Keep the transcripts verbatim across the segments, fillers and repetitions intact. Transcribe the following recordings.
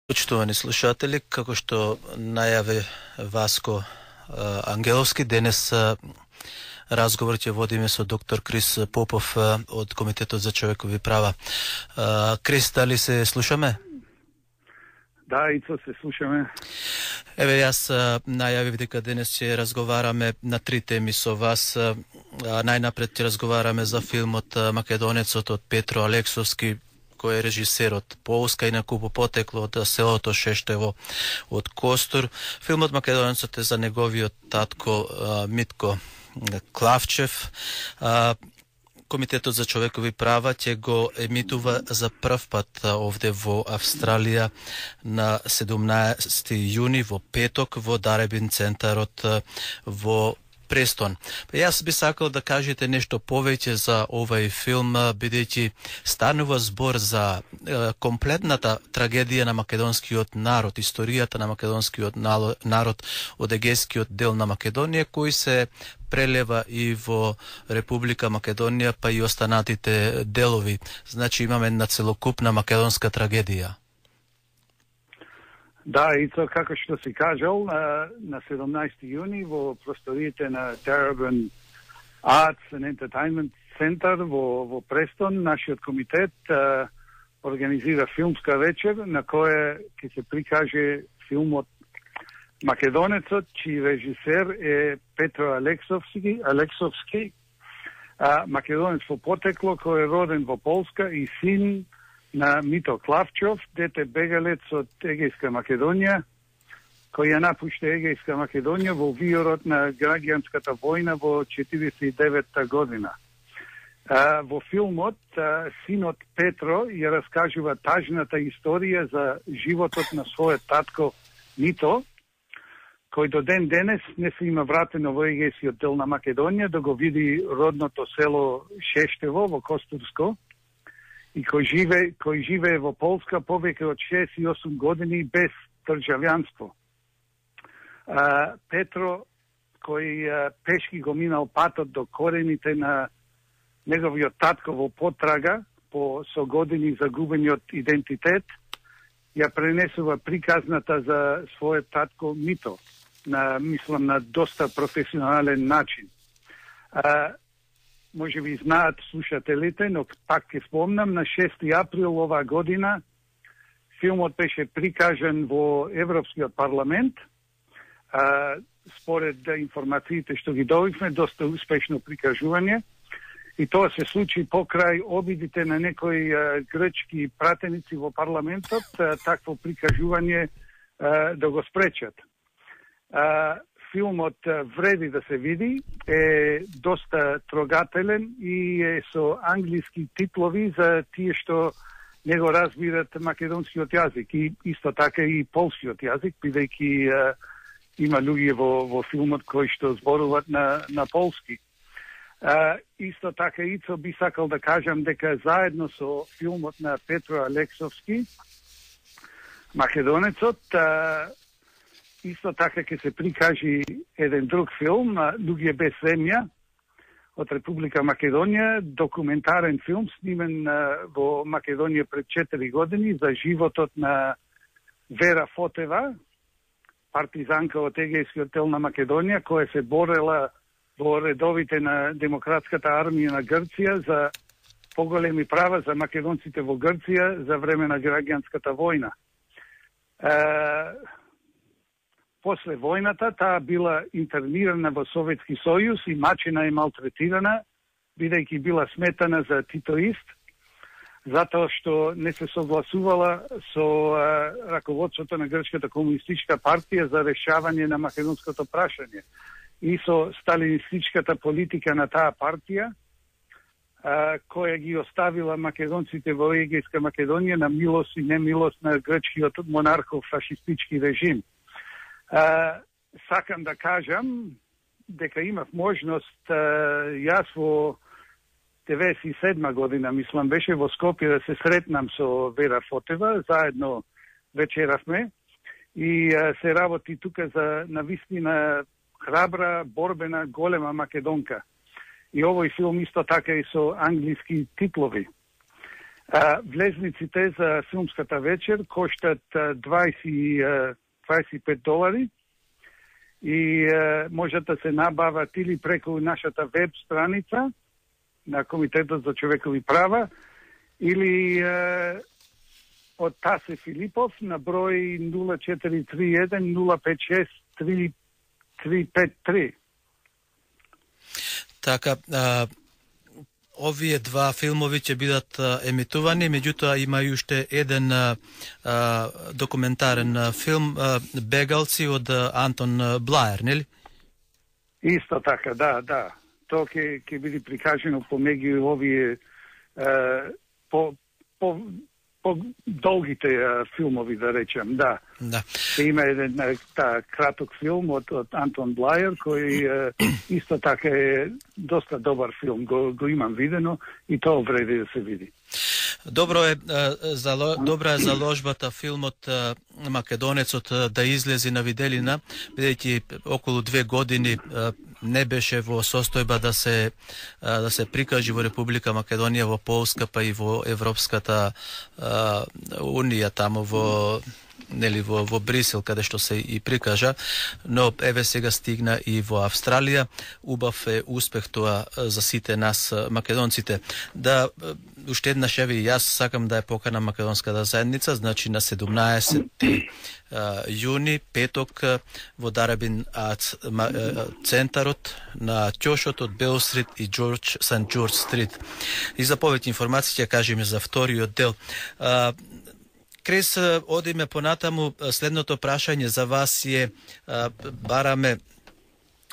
Почитувани слушатели, како што најави Васко Ангеловски, денес разговор ќе водиме со доктор Крис Попов од Комитетот за човекови права. Крис, дали се слушаме? Да, Ицо, се слушаме. Еве, јас најавив дека денес ќе разговараме на три теми со вас. Најнапред ќе разговараме за филмот Македонецот од Петро Алексовски, кој е режисер од Полска и накупо потекло од селото Шештево од Костур. Филмот Македонецот е за неговиот татко Митко Клавчев. Комитетот за човекови права ќе го емитува за прв пат овде во Австралија на седумнаесети јуни во петок во Даребин центарот во Престон. Јас би сакал да кажете нешто повеќе за овај филм, бидејќи станува збор за е, комплетната трагедија на македонскиот народ, историјата на македонскиот народ од егејскиот дел на Македонија, кој се прелева и во Република Македонија, па и останатите делови. Значи имаме една целокупна македонска трагедија. Да, и тоа како што си кажал, на седумнаесети јуни во просториите на Darabin Arts and Entertainment Center во, во Престон, нашиот комитет а, организира филмска вечер на која ќе се прикаже филмот Македонецот, чиј режисер е Петро Алексовски, Алексовски а, македонец во потекло, кој е роден во Полска и син на Мито Клавчов, дете бегалец од Егејска Македонија, кој ја напушта Егејска Македонија во виорот на граѓанската војна во четиридесет и девета година. А, во филмот а, синот Петро ја раскажува тажната историја за животот на својот татко Мито, кој до ден денес не се има вратено во егејскиот дел на Македонија да го види родното село Шештево во Костурско, и кој живе, кој живее во Полска повеќе од шеесет и осум години без државјанство. А, Петро, кој а, пешки го минал патот до корените на неговиот татко во потрага по со години загубениот идентитет, ја пренесува приказната за својот татко Мито, на, мислам, на доста професионален начин. А, може би знаат слушателите, но пак ќе спомнам, на шести април оваа година филмот беше прикажан во Европскиот парламент. А, според информациите што ги добивме, доста успешно прикажување. И тоа се случи покрај обидите на некои а, грчки пратеници во парламентот, а, такво прикажување а, да го спречат. А, Филмот вреди да се види, е доста трогателен и е со англиски титлови за тие што не го разбират македонскиот јазик и исто така и полскиот јазик, бидејќи има луѓе во, во филмот кои што зборуваат на, на полски. А, исто така Ицо би сакал да кажам дека заедно со филмот на Петро Алексовски, Македонецот, а, исто така ќе се прикажи еден друг филм, Луѓе без земја, од Република Македонија, документарен филм снимен во Македонија пред четири години за животот на Вера Фотева, партизанка од егејскиот дел на Македонија, која се борела во редовите на Демократската армија на Грција за поголеми права за македонците во Грција за време на граѓанската војна. После војната таа била интернирана во Советски сојуз и мачена и малтретирана, бидејќи била сметана за титоист, затоа што не се согласувала со а, раководството на Грчката комунистичка партија за решавање на македонското прашање и со сталинистичката политика на таа партија, а, која ги оставила македонците во егејска Македонија на милост и немилост на грчкиот монархов фашистички режим. Uh, сакам да кажам дека имав можност uh, јас во деветдесет и седма година, мислам, беше во Скопје да се сретнам со Вера Фотева, заедно вечеравме и uh, се работи тука за навистина храбра, борбена, голема македонка. И овој филм исто така и со англиски титлови. А, влезниците за филмската вечер коштат дваесет, дваесет и пет долари и а, можат да се набават или преку нашата веб страница на Комитетот за човекови права или а, од Тасе Филипов на број нула четири три еден нула пет шест три три пет три. Така, а, овие два филмови ќе бидат а, емитувани, меѓутоа има и уште еден а, а, документарен а, филм а, Бегалци од а, Антон Блаер, нели? Исто така, да, да. Тоа ќе ќе биде прикажено помеѓу овие а, по по по долгите а, филмови, да речем, да. Да. Има еден та, краток филм од, од Антон Блаер, кој а, исто така е доста добар филм, го, го имам видено и тоа вреди да се види. Добро е, зало, добра е заложбата филмот Македонецот да излези на виделина, бидејќи околу две години не беше во состојба да се да се прикажи во Република Македонија, во Полска, па и во Европската а, унија, тамо во нели во, во Брисел, каде што се и прикажа, но еве сега стигна и во Австралија. Убав е успех тоа за сите нас македонците. Да, уште еднаш еве и јас сакам да ја поканам македонската заедница, значи на седумнаесети јуни, петок, во Дарабин центарот на ќошот од Бел Стрит и Джордж Сент Джордж Стрит. И за повеќе информации ќе кажеме за вториот дел. Крес, одиме понатаму, следното прашање за вас е, бараме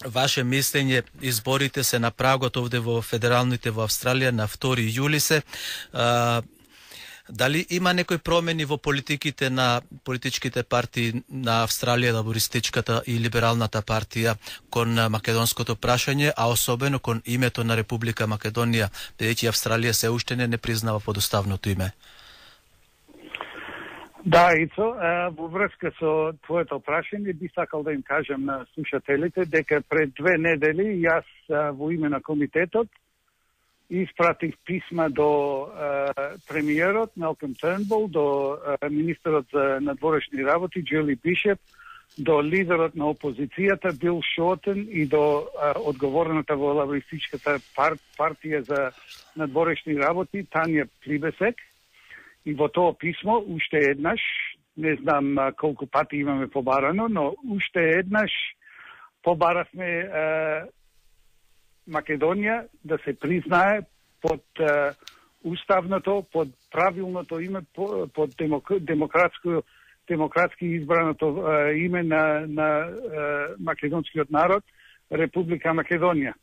ваше мислење, изборите се на прагот овде во федералните во Австралија на втори јули се. Дали има некои промени во политиките на политичките партии на Австралија, лабористичката и либералната партија кон македонското прашање, а особено кон името на Република Македонија, бидејќи Австралија се уште не, не признава подоставното име? Да, Ицо, во врска со твоето прашање би сакал да им кажам на слушателите дека пред две недели јас во име на комитетот испратих писма до премиерот Малком Тернбул, до министерот за надворешни работи Джули Бишоп, до лидерот на опозицијата Бил Шортен и до одговорната во лабористичката пар, партија за надворешни работи Тања Плибесек. И во тоа писмо, уште еднаш, не знам а, колку пати имаме побарано, но уште еднаш побаравме а, Македонија да се признае под а, уставното, под правилното име, под демок, демократско, демократски избраното а, име на, на а, македонскиот народ, Република Македонија.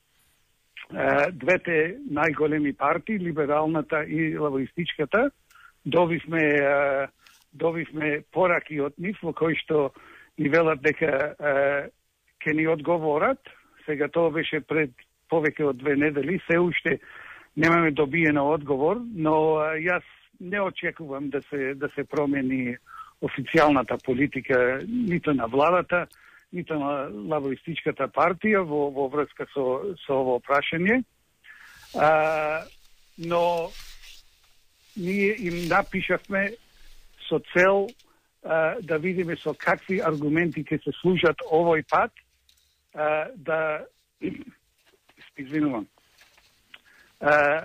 А, двете најголеми партии, либералната и лабористичката, Добивме, добивме пораки од нив во кои што ни велат дека ќе ни одговорат. Сега тоа беше пред повеќе од две недели, се уште немаме добиено одговор, но јас не очекувам да се да се промени официјалната политика нито на владата, нито на лабористичката партија во во врска со со ово прашање. А, но ние им напишавме со цел а, да видиме со какви аргументи ќе се служат овој пат а, да извинувам а,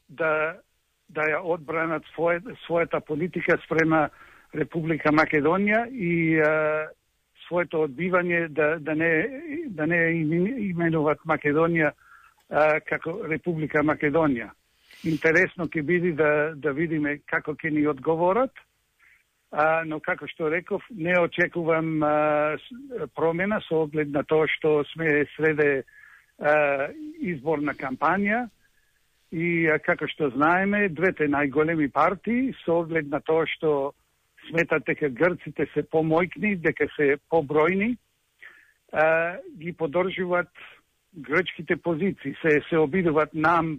да да ја одбранат своје, својата политика спрема Република Македонија и а, своето одбивање да да не да не именуваат Македонија а, како Република Македонија. Интересно ќе биде да, да видиме како ќе ни одговорат, а, но како што реков, не очекувам а, промена со оглед на тоа што сме среде а, изборна кампања и а, како што знаеме, двете најголеми партии со оглед на тоа што сметат дека грците се помојкни, дека се побројни, а, ги подржуваат грчките позиции, се се обидуваат нам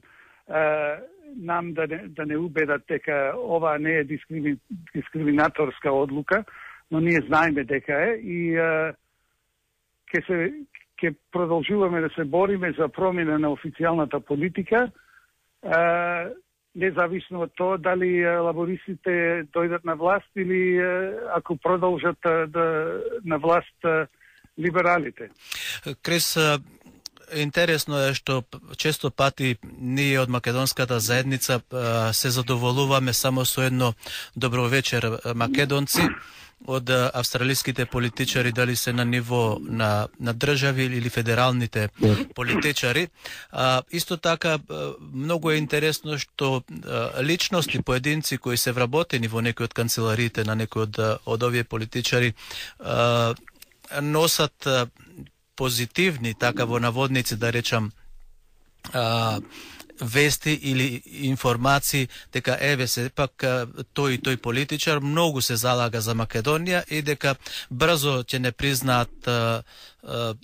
Uh, нам да не, да не убедат дека ова не е дискрими, дискриминаторска одлука, но ние знаеме дека е и uh, ќе се ќе продолжуваме да се бориме за промена на официјалната политика uh, независно од тоа дали лабористите дојдат на власт или ако продолжат да на власт либералите. Крис, интересно е што често пати ние од македонската заедница се задоволуваме само со едно добро вечер македонци од австралиските политичари, дали се на ниво на, на држави или федералните политичари. А, исто така, многу е интересно што а, личности, поединци кои се вработени во некои од канцелариите на некои од, од овие политичари а, носат а, позитивни, така во наводници да речам, а, вести или информации дека еве се пак тој и тој политичар многу се залага за Македонија и дека брзо ќе не признаат а, а,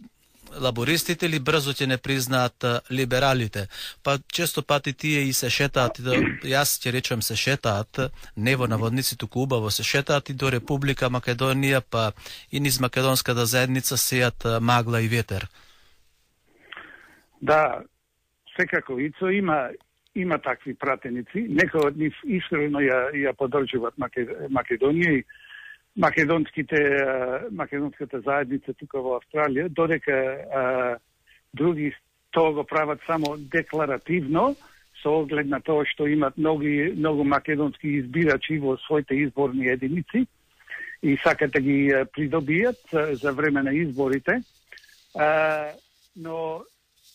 лабористите или брзо ќе не признаат а, либералите. Па често пати тие и се шетаат, да, јас ќе речам се шетаат, не во наводници, туку убаво се шетаат и до Република Македонија, па и низ македонската заедница сеат магла и ветер. Да, секако Ицо има има такви пратеници, некои од нив искрено ја ја поддржуваат Македонија и македонските македонската заедница тука во Австралија, додека а, други тоа го прават само декларативно со оглед на тоа што имат многу многу македонски избирачи во своите изборни единици и сакат да ги придобијат за време на изборите. А, но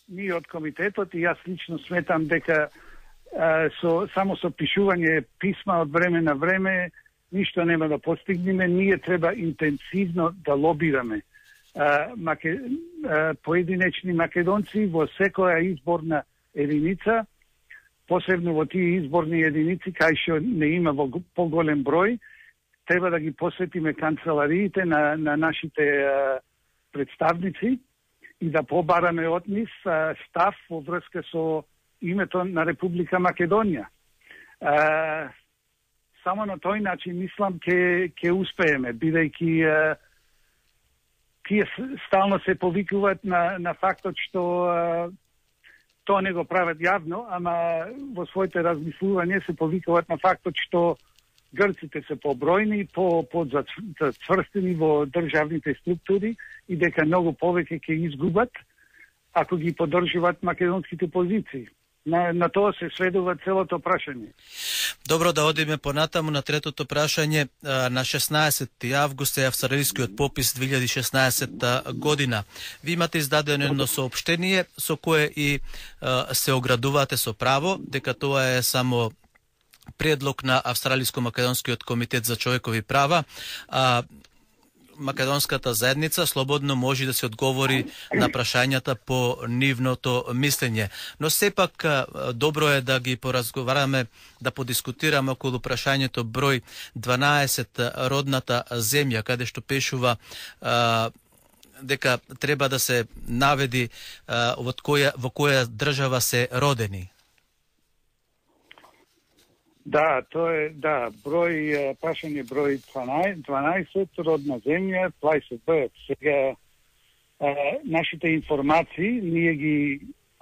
ние од комитетот и јас лично сметам дека а, со, само со пишување писма од време на време ништо нема да постигнеме. Ние треба интенсивно да лобираме а, маке, а, поединечни македонци во секоја изборна единица, посебно во тие изборни единици кај што не има во поголем број, треба да ги посветиме канцелариите на, на нашите а, представници и да побараме од нив став во врска со името на Република Македонија. А, само на тој начин мислам ке ке успееме, бидејќи тие стално се повикуваат на на фактот што а, тоа не го прават јавно, ама во своите размислувања се повикуваат на фактот што грците се побројни, по подзацврстени во државните структури и дека многу повеќе ќе изгубат ако ги поддржуваат македонските позиции. На, на тоа се сведува целото прашање. Добро, да одиме понатаму на третото прашање. На шеснаесети август е австралискиот попис две илјади и шеснаесетта година. Ви имате издадено едно соопштение со кое и а, се оградувате со право дека тоа е само предлог на Австралиско-македонскиот комитет за човекови права, а македонската заедница слободно може да се одговори на прашањата по нивното мислење. Но сепак добро е да ги поразговараме, да подискутираме околу прашањето број дванаесет, родната земја, каде што пишува а, дека треба да се наведи а, во која, во која држава се родени. Да, тоа е, да, број, прашање број дванаесет, родна земја, place of birth. Сега, а, нашите информации, ние ги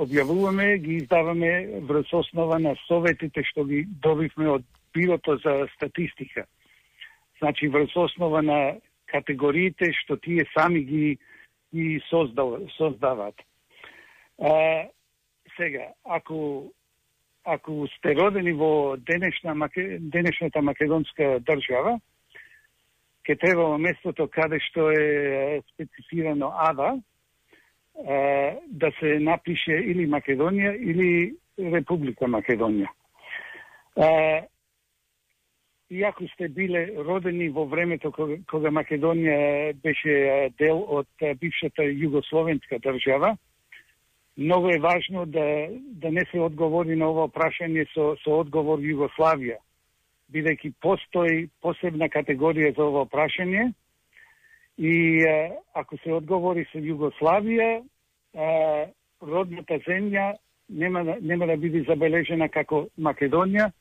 објавуваме, ги издаваме врз основа на советите што ги добивме од Бирото за статистика. Значи, врз основа на категориите што тие сами ги, ги создават. А, сега, ако Ако сте родени во денешна, денешната македонска држава, ќе треба во местото каде што е специфирано АДА да се напише или Македонија или Република Македонија. И ако сте биле родени во времето кога, кога Македонија беше дел од бившата југословенска држава, многу е важно да, да не се одговори на ова прашање со, со одговор Југославија, бидејќи постои посебна категорија за ова прашање и а, ако се одговори со Југославија, а, родната земја нема, нема да биде забележена како Македонија,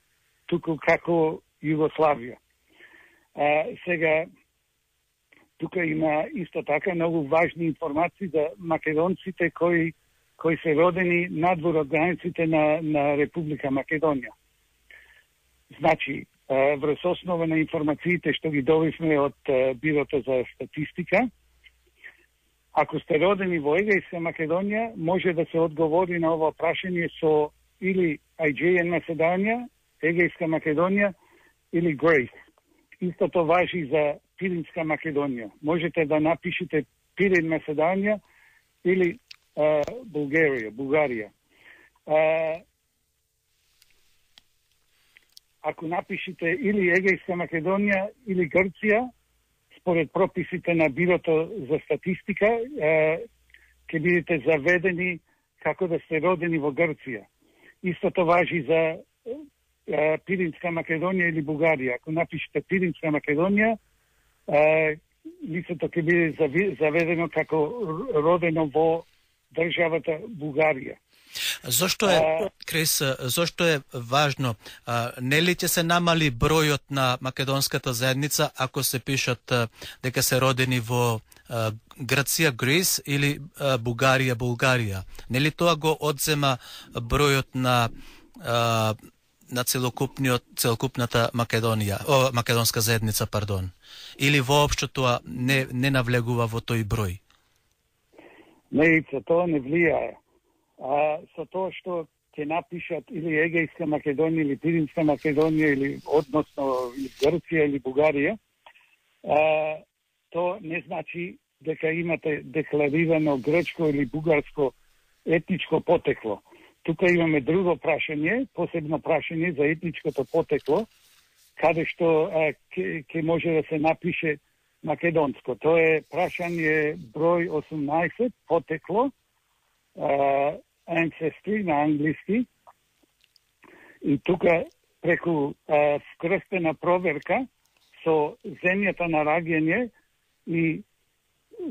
туку како Југославија. А, сега, тука има исто така многу важни информации за македонците кои кои се родени надвор од границите на, на Република Македонија. Значи, врз основа на информациите што ги добивме од Бирото за статистика, ако сте родени во Егејска Македонија, може да се одговори на ова прашање со или Aegean Macedonia, Егејска Македонија или Grace. Истото важи за Пиринска Македонија. Можете да напишете Пирин Македонија или uh, Bulgaria, Бугарија. Uh, ако напишете или Егејска Македонија или Грција, според прописите на Бирото за статистика, uh, ќе бидете заведени како да сте родени во Грција. Истото важи за uh, Пиринска Македонија или Бугарија. Ако напишете Пиринска Македонија, uh, лицето ќе биде заведено како родено во државата Бугарија. Зошто е, Крис, зошто е важно? А, нели ќе се намали бројот на македонската заедница ако се пишат а, дека се родени во а, Грција, Грис или а, Бугарија, Булгарија? Нели тоа го одзема бројот на а, на целокупниот целокупната Македонија, о, македонска заедница, пардон? Или воопшто тоа не не навлегува во тој број? Не, тоа не влијае. А, со тоа што ќе напишат или Егејска Македонија или Пиринска Македонија или односно или Грција или Бугарија, а, то не значи дека имате декларирано грчко или бугарско етничко потекло. Тука имаме друго прашање, посебно прашање за етничкото потекло, каде што ќе може да се напише македонско. Тоа е прашање број осумнаесет, потекло, а, ancestry на англиски. И тука преку а, вкрстена проверка со земјата на раѓање и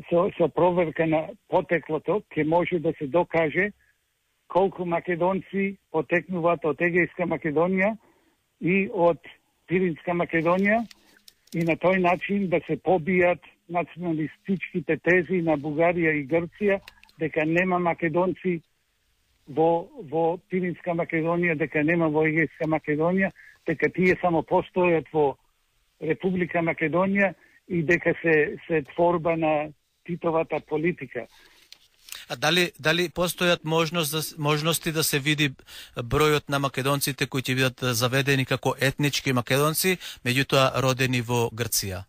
со, со проверка на потеклото ќе може да се докаже колку македонци потекнуваат од Егејска Македонија и од Пиринска Македонија и на тој начин да се побијат националистичките тези на Бугарија и Грција дека нема македонци во, во Пиринска Македонија, дека нема во Егејска Македонија, дека тие само постојат во Република Македонија и дека се, се творба на Титовата политика. А дали дали постојат можност да, можности да се види бројот на македонците кои ќе бидат заведени како етнички македонци, меѓутоа родени во Грција?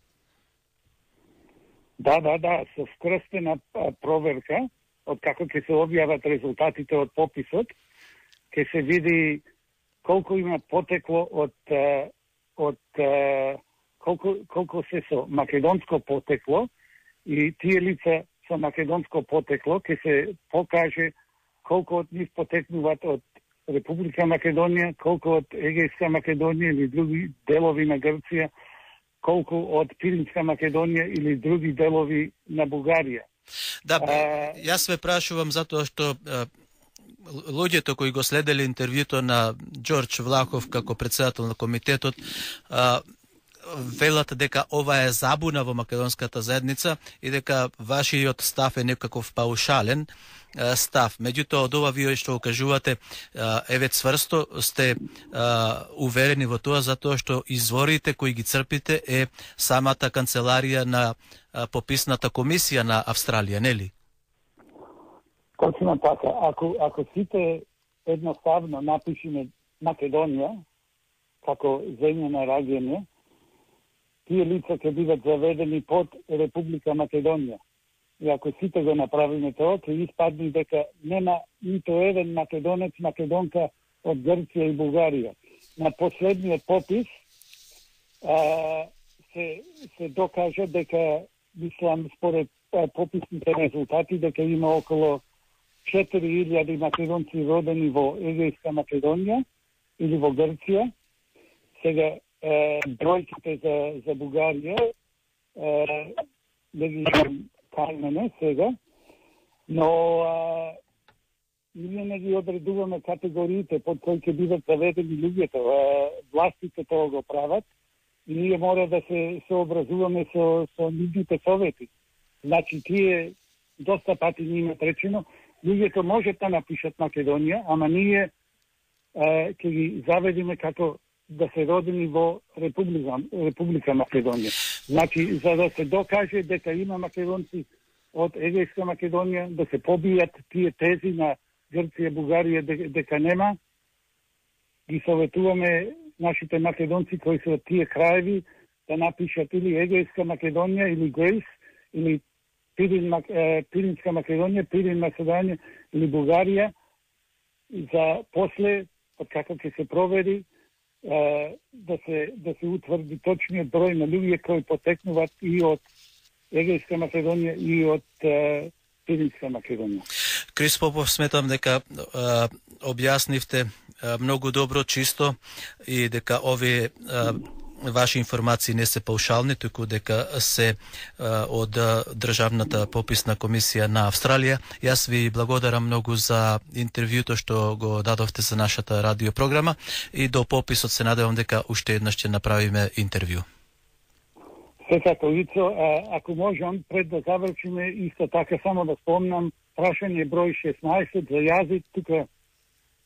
Да, да, да, со вкрстена проверка, од како ќе се објават резултатите од пописот, ќе се види колку има потекло од од колку колку се со македонско потекло и тие лица со македонско потекло ќе се покаже колку од нив потекнуваат од Република Македонија, колку од Егејска Македонија или други делови на Грција, колку од Пиринска Македонија или други делови на Бугарија. Да, а, јас ве прашувам затоа што а, луѓето кои го следеле интервјуто на Ѓорѓ Влахов како председател на комитетот, а, велат дека ова е забуна во македонската заедница и дека вашиот став е некаков паушален став. Меѓутоа, од ова вие што кажувате, еве цврсто сте а, уверени во тоа, затоа што изворите кои ги црпите е самата канцеларија на а, пописната комисија на Австралија, нели? Точно така. Ако, ако сите едноставно напишеме Македонија како земја на раѓање, тие лица ќе бидат заведени под Република Македонија. И ако сите го направиме тоа, ќе испадне дека нема нито еден македонец, македонка од Грција и Бугарија. На последниот попис а, се, се докажа дека, мислам, според а, пописните резултати, дека има околу четири илјади македонци родени во Егејска Македонија или во Грција. Сега, бројките за, за Бугарија да ги кај мене сега, но а, ние не ги одредуваме категориите под кои ќе бидат заведени луѓето. А, властите тоа го прават и ние мора да се сообразуваме со, со нивните совети. Значи, тие доста пати ни имат речено, луѓето можат да напишат Македонија, ама ние а, ќе ги заведиме како да се родени во Република, Република Македонија. Значи, за да се докаже дека има македонци од Егејска Македонија, да се побијат тие тези на Грција, Бугарија, дека нема, ги советуваме нашите македонци кои се од тие краеви да напишат или Егејска Македонија, или Грейс, или Пирин, Пиринска Македонија, Пирин Македонија или Бугарија, за после, од како ќе се провери, да се да се утврди точниот број на луѓе кои потекнуваат и од Егејска Македонија и од Пиринска Македонија. Крис Попов, сметам дека а, објаснивте а, многу добро, чисто и дека овие а, ваши информации не се паушални, туку дека се а, од Државната пописна комисија на Австралија. Јас ви благодарам многу за интервјуто што го дадовте за нашата радиопрограма и до пописот се надевам дека уште еднаш ќе направиме интервју. Секако, Ицо, ако можам, пред да завршиме, исто така само да спомнам, прашање број шеснаесет за јазик, тука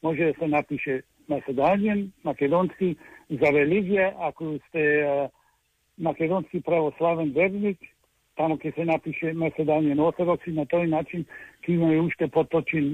може да се напише македонјен, македонски, за религија, ако сте а, македонски православен верник, таму ќе се напише македонјен ортодокс и на тој начин ќе имаме уште поточен